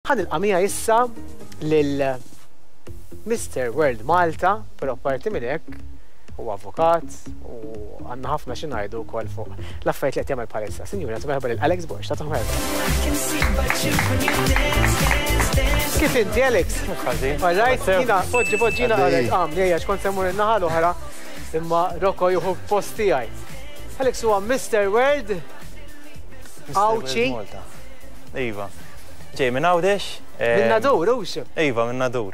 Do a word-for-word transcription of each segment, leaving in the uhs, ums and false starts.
Ħa nilqa' miegħi issa lil Mister World Malta, però parti minn hekk u avukat u għandna ħafna xi ngħidu wkoll fuq l-affarijiet li qed jagħmel bħalissa. Sinjura, merħba lil Alex Borg, ta' merħba. Kif inti, Alex? All right, jiena, poġġi, poġġina, għalet, għam, li kont se mmur in-naħa l-oħra, imma Rocco jieħu post tiegħi. Alex huwa Mister World Għawdxi. Iva. Ġej minn Għawdex. Minn Nadur, hux? Iva, minn Nadur.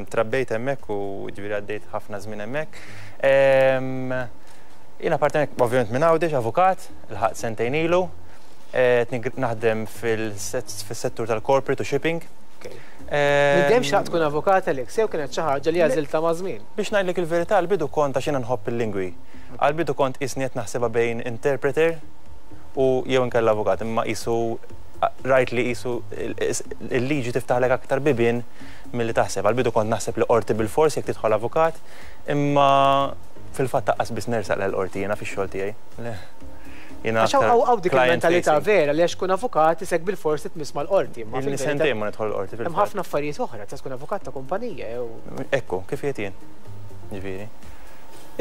Trabbejt hemmhekk u ġifieri għaddejt ħafna żmien hemmhekk. Jiena parti ovvjament minn Għawdex, avukat, ilħaqt sentejn ilu. Naħdem fil-settur tal-corporate u shipping. Minn dejjem xtaqt tkun avukat, Alex, jew kienet xi ħaġa li għażilta ma' żmien? Biex ngħidlek il-verità, għal-bidu kont, għax jiena nħobb il-lingwi. Għal-bidu kont qisni qed naħsebha bejn interpreter u jew inkella avukat, imma qisu rajt li qisu il-liġi tiftaħlek aktar bibien milli taħseb. Għal-bidu kont naħseb li qorti bil-fors jekk tidħol avukat, imma fil-fatt taqqas biss nersaq l-qorti jiena fix-xogħol tiegħi. Għax hawn dik il-mentalità vera li għax tkun avukat isek bil-fors tmiss mal-qorti. Imma sentejn ma nidħol l-qorti. Hemm ħafna affarijiet oħra, ta' tkun avukat ta' kumpanija jew. Ekku, kif qed jien. Ġifieri.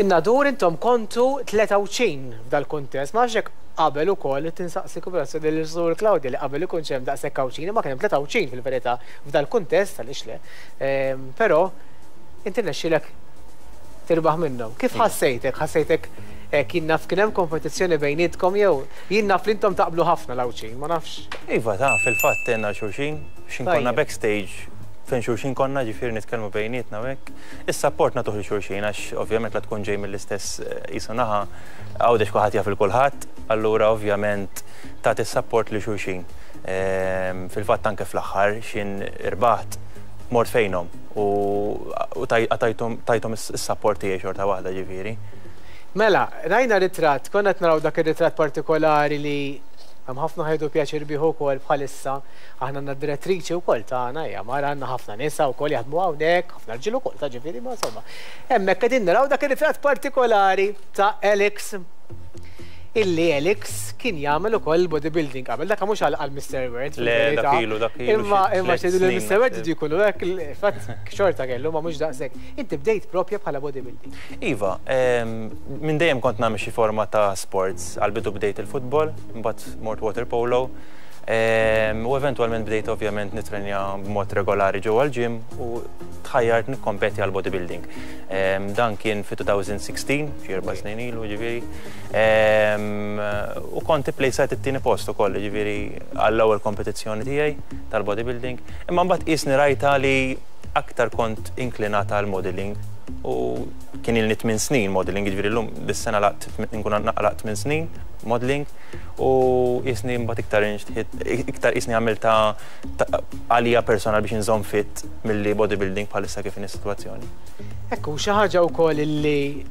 In-Nadur intom kontu tlieta wċin f'dal-kuntest, ma nafx jekk qabel ukoll tinsaqsi kubrazzjoni lil Sur Claudia li qabel ikun hemm daqshekk Għawdxin, ma kien hemm tlieta wċin fil-verità f'dal-kuntest għaliex le. Però inti rnexxielek tirbaħ minnhom. Kif ħassejtek? Ħassejtek kien naf kien hemm kompetizzjoni bejnietkom jew jien naf li intom taqblu ħafna l-Għawdxin, ma nafx. Iva, ta' fil-fatt għenna xulxin, x'in konna backstage fejn xulxin konna, ġifieri nitkellmu bejnietna u hekk. Is-support nagħtuh lil xulxin għax ovvjament la tkun ġej mill-istess qisu naħa, Għawdex kulħadd jaf il kulħadd, allura ovvjament tagħti s-support lil xulxin. Fil-fatt anke fl-aħħar x'in irbaħt mort fejnhom u tajthom is-support tiegħi xorta waħda ġifieri. Mela, rajna ritratt, konna qed naraw dak ir-ritratt partikolari li hemm ħafna ħajdu pjaċir bih ukoll bħalissa. Aħna għandna direttriċi wkoll tagħna, hija mara, għandna ħafna nisa wkoll jaħdmu hawnhekk, ħafna rġiel ukoll ta' ġifieri, ma insomma. Hemmhekk qegħdin naraw dak ir-ritratt partikolari ta' Alex, illi Alex kien jagħmel ukoll bodybuilding qabel. Dak mhux għal Mister World. Le, dak ilu, dak ilu. Imma imma xedu li Mister World idu jkunu hekk, fatt xorta kellu, ma mhux daqshekk. Inti bdejt propja bħala bodybuilding. Iva, minn dejjem kont nagħmel xi forma ta' sports. Għal-bidu bdejt il-futbol, mbagħad mort water polo, u eventwalment bdejt ovvjament nitrenja b'mod regolari ġewwa l-gym u tħajjart nikkompeti għal bodybuilding. Dan kien fi elfejn u sittax, xi erba' snin ilu ġifieri. U kont ipplejsajt it-tieni post ukoll, ġifieri għall-ewwel kompetizzjoni tiegħi tal-bodybuilding. Imma mbagħad qisni rajta li aktar kont inklinata għal modeling u kien ilni tmien snin modeling, ġifieri llum dis-sena laqt nkun naqlaq tmien snin modeling u qisni mbagħad iktar iktar qisni għamilta għalija personal biex inżomm fit milli bodybuilding bħalissa kif inhi s-sitwazzjoni. Ekku, xi ħaġa wkoll illi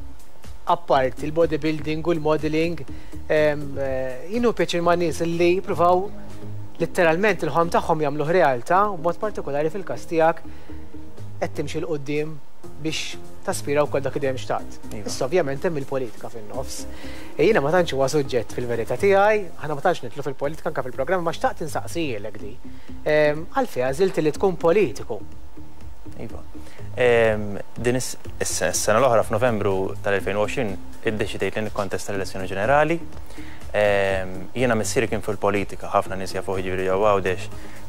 apart il-bodybuilding u l-modeling, jien hu pjaċir ma' nies illi jippruvaw letteralment il-ħolm tagħhom jagħmluh realtà, u b'mod partikolari fil-każ tiegħek qed timxi 'l quddiem biex taspira wkoll dak li dejjem xtaqt. Issa ovvjament hemm il-politika fin-nofs. Jiena ma tantx huwa suġġett fil-verità tiegħi, aħna ma tantx nidħlu fil-politika anke fil-programm, ma xtaqt insaqsijielek di. Għalfejn għażilt li tkun politiku? Iva. Din is-sena l-oħra f'Novembru tal-elfejn u għoxrin iddeċidejt li nikkontesta l-elezzjoni ġenerali. Jiena missieri kien fil-politika, ħafna nies jafuh ġifieri ġewwa Għawdex,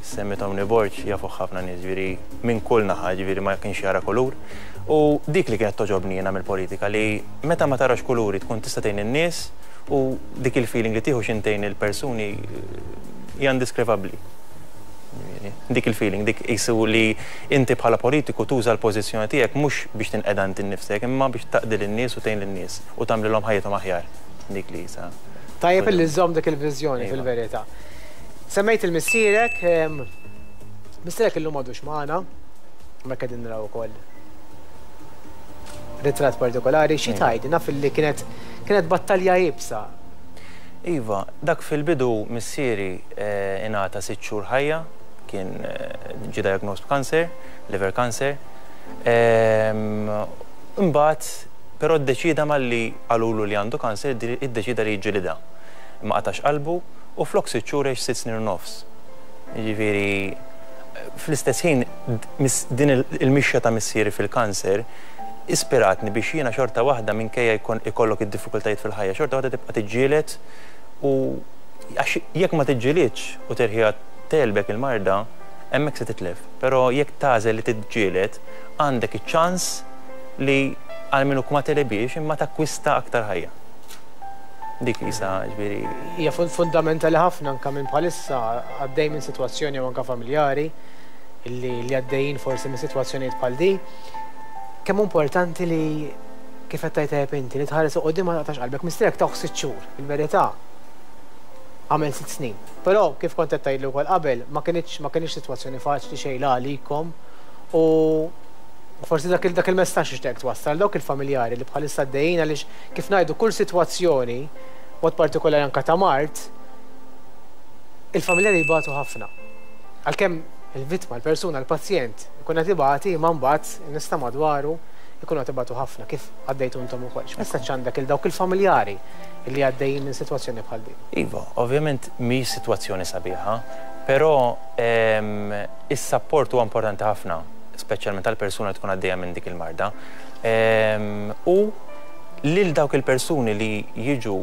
semmi Tony Borg jafuh ħafna nies ġifieri minn kull naħa, ġifieri ma kienx jara kulur. U dik li kienet toġobni jiena mill-politika, li meta ma tarax kuluri tkun tista' tgħin in-nies u dik il-feeling li tieħu x'intejn il-persuni hija indiskrivabbli. Dik il-feeling, dik qisu li inti bħala politiku tuża l-pożizzjoni tiegħek mhux biex tinqeda inti nnifsek, imma biex taqdi lin-nies u tgħin lin-nies u tagħmlilhom ħajjithom aħjar. Dik li jisa. Tajjeb illi żżomm dik il-viżjoni fil-verità. Semmejt il-missierek, missierek illum m'għadux magħna, ma qegħdin naraw ukoll ritratt partikolari, xi tgħid, naf illi kienet kienet battalja iebsa. Iva, dak fil-bidu missieri ingħata sitt xhur ħajja, kien ġie diagnosed b'kanser, liver cancer. Imbagħad però ddeċida malli qalulu li għandu kanser, iddeċida li jiġġielidha. Ma qatax qalbu u flok sitt xhur għex sitt snin u nofs. Jiġifieri Fl-istess ħin, din il-mixja ta' missieri fil-kanser ispiratni biex jiena xorta waħda, minkejja jkun ikollok id-diffikultajiet fil-ħajja, xorta waħda tibqa' tiġġieled, u għax jekk ma tiġġielidx u terħiha tegħlbek il-marda, hemmhekk se titlef. Però jekk tagħżel li tiġġieled, għandek iċ-ċans li għalmenu ma tegħlibhiex imma takkwista aktar ħajja. Dik jisa ġifieri. Hija fundamentali ħafna anke minn bħalissa għaddej minn sitwazzjoni u anke familjari illi li għaddejjin forsi minn sitwazzjonijiet bħal di. Kemm importanti li, kif qed tgħid inti, li tħares quddiem, ma taqtax qalbek. Missierek tawh sitt xhur, il-verità għamel sitt snin. Però kif kont qed tgħidli wkoll qabel, ma kienx ma kienx sitwazzjoni faċli xejn għalikom u forsi dak dak il-messaġġ ixtieq twassal dawk il-familjari li bħalissa għaddejjin, għaliex kif ngħidu, kull sitwazzjoni, mod partikolari anka ta' mard, il-familjari jibatu ħafna. Għalkemm il-vittma, il-persuna, il-pazjent, ikun qed ibati, imma mbagħad in-nies ta' madwaru ikunu qed ibatu ħafna, kif għaddejtu intom ukoll. X'messaġġ għandek il dawk il-familjari li għaddejjin minn sitwazzjoni bħal din? Iva, ovvjament mi sitwazzjoni sabiħa, però ehm, is-support huwa importanti ħafna, speċjalment tal-persuna li tkun għaddejja minn dik il-marda. Ehm, u lil dawk il-persuni li jiġu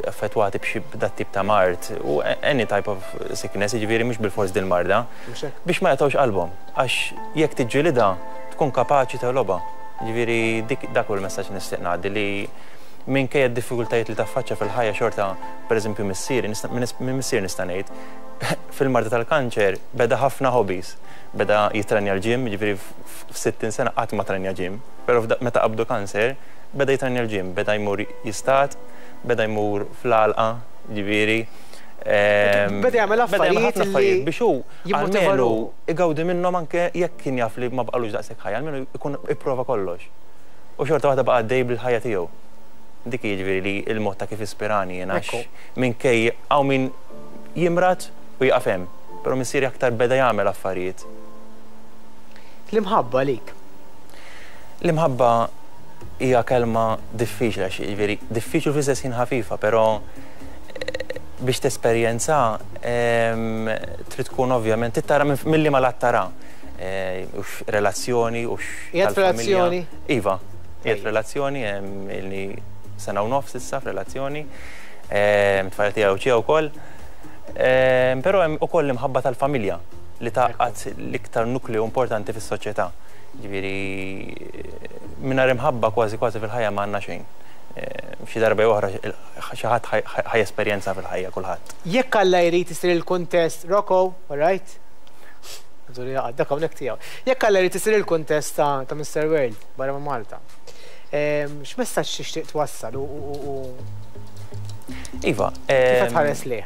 affettwati b'xi dat tip ta' mard u any type of sickness, jiġifieri mhux bil-fors din marda, Mhux hekk? biex ma jaqtgħux qalbhom, għax jekk tiġġilida tkun kapaċi tegħlobha. Ġifieri dik dak hu l-messaġġ nixtieq ngħaddi, li minkejja d-diffikultajiet li taffaċċa fil-ħajja xorta, pereżempju missieri, nista- minn missieri nista' ngħid, fil-marda tal-kanċer beda ħafna hobbies. Beda jitrenja l-gym, ġifieri f'sittin sena qatt ma trenja gym, però f'da- meta qabdu kanċer beda jitrenja l-gym, beda jmur jistad, beda jmur fl-għalqa, ġifieri. ehm, Beda jagħmel Beda jagħmel affarijiet ħafna affarijiet li biex hu jimmotiva almenu ruħu. igawdi minnhom, anke jekk kien jaf li ma baqalux daqshekk ħajja, almenu ikun ipprova kollox. U xorta waħda baqa' għaddej bil-ħajja tiegħu. Dik jiġifieri li il-mod ta' kif ispirani jien, għax Ekku. minkej hawn min jimrad u jaqaf hemm, però missieri aktar beda jagħmel affarijiet. L-imħabba lik. L-imħabba hija kelma diffiċli, għax jiġifieri diffiċli fl-istess ħin ħafifa, però eh, biex tesperjenza em, trid tkun ovvjament trid tara minn- milli ma lat tara. Eh, Hux relazzjoni, hux Qiegħed tal-familja. f'relazzjoni? Iva, qiegħed Tajjeb. f'relazzjoni, em, ilni sena u nofs issa f'relazzjoni. Em, Tfajla tiegħi ċija wkoll. Em, Però hemm ukoll l-imħabba tal-familja li tgħaqqad l-iktar nukleu importanti fis-soċjetà. Ġifieri mingħajr imħabba kważi kważi fil-ħajja ma għandna xejn. Eh, Xi darba jew oħra xi ħadd ħa jesperjenza fil-ħajja kulħadd. Jekk Alla jrid isir il-kuntest, Rocco, all right? Żuri dak hawnhekk tiegħu. Jekk Alla jrid isir il-kuntest ta' ta' Mister World barra ma' Malta, Em, X'messaġġ tixtieq twassal u u- u Iva, kif qed em, tħares lih?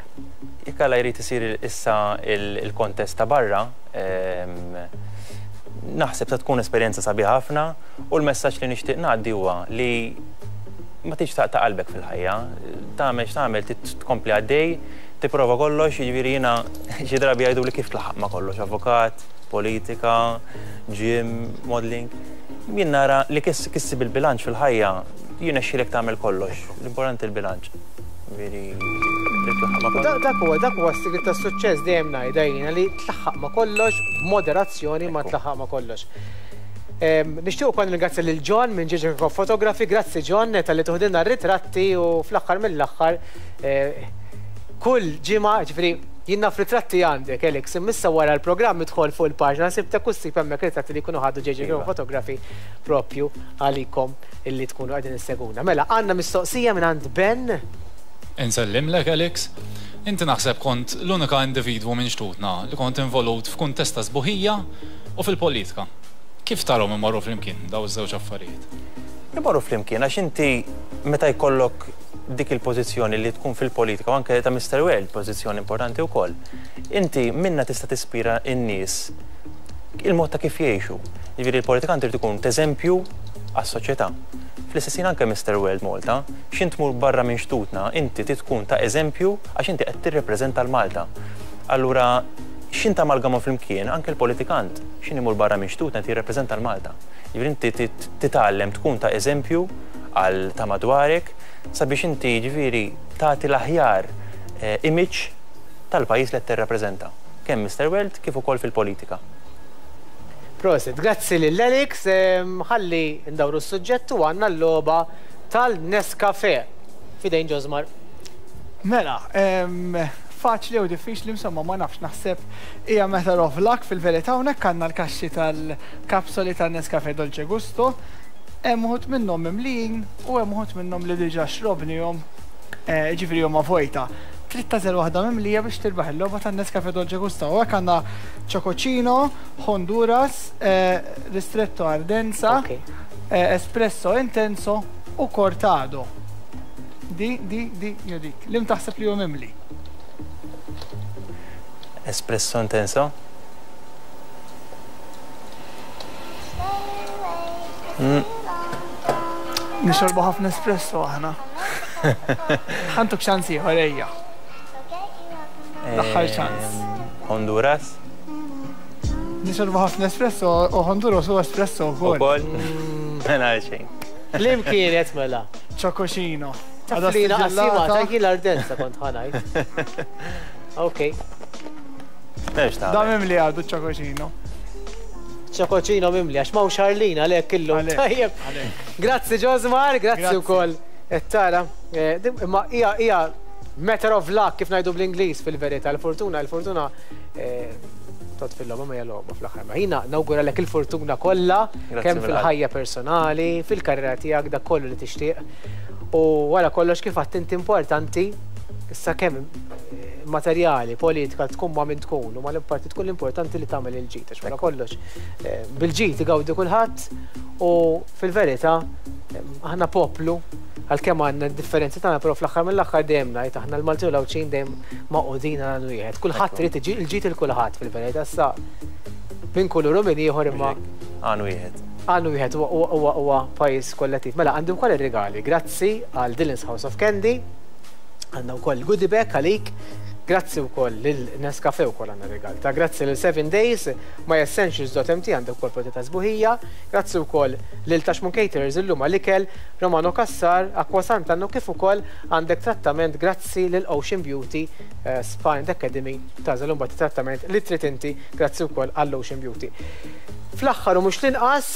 Jekk Alla jrid isir issa il- il-kontest ta' barra, em, naħseb ta' tkun esperjenza sabiħa ħafna u l-messaġġ li nixtieq ngħaddi huwa li ma tix taqta' qalbek fil-ħajja, tagħmel x'tagħmel trid tkompli għaddej, tipprova kollox, jiġifieri jiena xi drabi jgħidu li kif tlaħħaq ma' kollox, avukat, politika, gym, modeling. Jien nara li kis issib il-bilanċ fil-ħajja, jirnexxilek tagħmel kollox. L-importanti il-bilanċ. Ġifieri li tlaħħaq ma' kollox. Dak dak huwa dak huwa s-sigriet tas-suċċess, dejjem ngħidha jiena, li tlaħħaq ma' kollox b'moderazzjoni, ma tlaħħaq ma' kollox. Em, Nixtieq ukoll nirringrazzja lil John minn Ġiġi Photography, grazzi John talli tuħdilna r-ritratti u fl-aħħar mill-aħħar eh, kull ġimgħa, ġifieri jien naf ritratti għandek, Alex, imma wara l-programm idħol fuq il-paġna sibtek u ssib hemmhekk ritratti li jkunu ħadu J J Iva. Photography propju għalikom illi tkunu qegħdin isseguna. Mela, għandna mistoqsija minn għand Ben. Insellimlek, Alex. Inti naħseb kont l-unika individwu minn xtutna li kont involut f'kuntest ta' sbuħija u fil-politika. Kif tarahom imorru flimkien daw iż-żewġ affarijiet? Imorru flimkien għax inti meta jkollok dik il-pożizzjoni li tkun fil-politika u anke ta' Mister World, pożizzjoni importanti wkoll. Inti minna tista' tispira n-nies il-mod ta' kif jgħixu. Jiġifieri il-politikant irid ikun eżempju għas-soċjetà. Fl-istess ħin anke Mister World Malta, x'int tmur barra minn xtutna, inti trid tkun ta' eżempju għax inti qed tirrepreżenta l-Malta. Allura x'int amalgama flimkien anke l-politikant, x'in imur barra minn xtutna qed jirrepreżenta l-Malta. Jiġifieri inti tit- titgħallem tkun ta' eżempju għal ta' madwarek sabiex inti ġifieri tagħti l-aħjar eh, image tal-pajjiż li qed tirrappreżenta. kemm Mister World kif ukoll fil-politika. Prosit, grazzi lil Alex, ħalli ndawru s-suġġett u għandna l-logħba tal-Nescafe. Fidejn Josmar. Mela, faċli u diffiċli insomma ma nafx, naħseb hija matter of luck fil-verità. Hawnhekk għandna l-kaxxi tal-kapsoli tan-Nescafe Dolce Gusto. Hemm uħud minnhom mimlijin u hemm uħud minnhom li diġà xrobnihom, ġifieri huma vojta. Trid tagħżel waħda mimlija biex tirbaħ il-logħba tan-Nescafe Dolce Gusto. U hekk għandna Chococino, Honduras, Ristretto Ardenza, Espresso Intenso u Cortado. Di, di, di, jew dik. Lim taħseb li hu mimli? Espresso Intenso? Mm. Nixorbu ħafna espresso aħna. Ħantuk ċans ieħor ejja. L-aħħar ċans. Honduras? Nixorbu ħafna espresso u Honduras u espresso wkoll. Ukoll? Mela xejn. Lim kienet mela? Chococino. Taflina qasima, ta' l-Ardenza kont ħanajt. Ok. Da mimli għadu Chococino. Chococino mimli, għax ma' Charlene għalek illum. Tajjeb. Grazzi Josmar, grazzi wkoll. Tara, imma hija hija matter of luck kif ngħidu bl-Ingliż fil-verità. Il-fortuna, il-fortuna tot fil-logħba ma hija logħba fl-aħħar. Ma jiena nawguralek il-fortuna kollha kemm fil-ħajja personali, fil-karriera tiegħek, dak kollu li tixtieq. U wara kollox kif għadt inti importanti issa kemm materjali, politika tkun ma' min tkun, u ma l-parti tkun l-importanti li tagħmel il-ġid, għax wara kollox bil-ġid igawdi kulħadd u fil-verità aħna poplu għalkemm għandna d-differenzi tagħna, però fl-aħħar mill-aħħar dejjem ngħid aħna l-Maltin u l-Għawdxin dejjem magħqudin għal wieħed. Kulħadd irid il-ġid il kulħadd fil-verità issa minn kulur u minn ieħor imma għan wieħed. Għannu wieħed huwa huwa pajjiż kollettiv. Mela għandu wkoll ir-rigali. Grazzi għal Dylan's House of Candy, għandna wkoll goodie bag għalik. Grazzi wkoll lil Nescafe wkoll għandna rigal. Ta' grazzi lil seven Days, my essentials dot m t għandek ukoll prodotti ta' sbuħija. Grazzi wkoll lil Tashmun Caterers illum għall-ikel, Romano Cassar, Aqua Sant'Anna, kif ukoll għandek trattament grazzi lil Ocean Beauty Spa and Academy tagħżel imbagħad trattament li trid inti, grazzi wkoll għall Ocean Beauty. Fl-aħħar u mhux l-inqas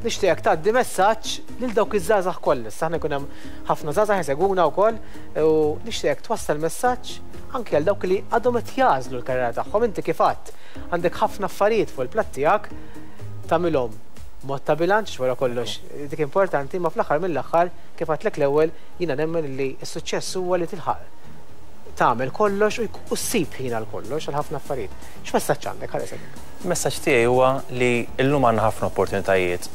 nixtieq tgħaddi messaġġ lil dawk iż-żgħażagħ kollha. Issa aħna jkun hemm ħafna żgħażagħ jsegwuna wkoll u nixtieq twassal messaġġ anke għal dawk li għadhom qed jażlu l-karriera tagħhom. Inti kif għadt għandek ħafna affarijiet fuq il-platt tiegħek tagħmilhom mod ta' bilanċ wara kollox dik importanti, ma fl-aħħar mill-aħħar kif għadtlek l-ewwel jiena nemmen li s-suċċess huwa li tilħaq tagħmel kollox u ssib ħin għal kollox għal ħafna affarijiet. X'messaġġ għandek ħares hekk? Il-messaġġ tiegħi huwa li llum għandna ħafna opportunitajiet.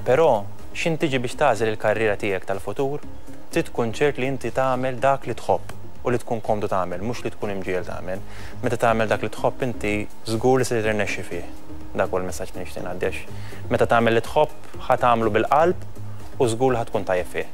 Però x'in tiġi biex tagħżel il-karriera tiegħek tal-futur, trid tkun ċert li inti tagħmel dak li tħobb u li tkun komdu tagħmel, mhux li tkun imġiel tagħmel. Meta tagħmel dak li tħobb inti żgur li se tirnexxi fih. Dak huwa l-messaġġ li nixtieq ngħaddi għax meta tagħmel li tħobb ħa tagħmlu bil-qalb u żgur li ħa tkun tajjeb fih.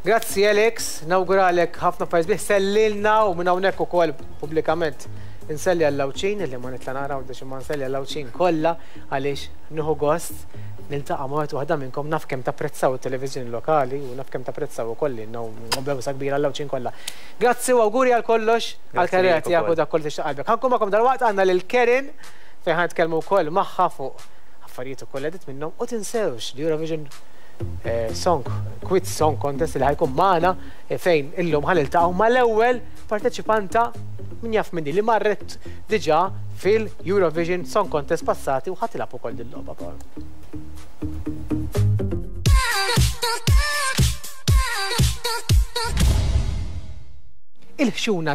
Grazzi Alex, nawguralek ħafna affarijiet sbieħ, sellilna u minn hawnhekk ukoll pubblikament inselli għall-Għawdxin illi ma nitla' nara għawdex imma nselli għall-Għawdxin kollha għaliex nieħu gost niltaqa' ma' wieħed waħda minnkom, naf kemm tapprezzaw it-televiżjoni lokali u naf kemm tapprezzaw ukoll lilna u bewsa kbira għall-Għawdxin kollha. Grazzi u awguri għal kollox, għall-karriera tiegħek u dak kollu tixtieq qalbek. Ħankun magħkom dalwaqt għandna lil Karen fejn ħa nitkellmu wkoll magħha fuq affarijiet ukoll edit minnhom u tinsewx l-Eurovision Song, Quiz Song Contest li ħajkun magħna fejn illum ħaniltaqgħu mal-ewwel parteċipanta min jaf minni li marret diġà fil-Eurovision Song Contest passati u ħadd tilgħab ukoll din logħba. Il-ħxuna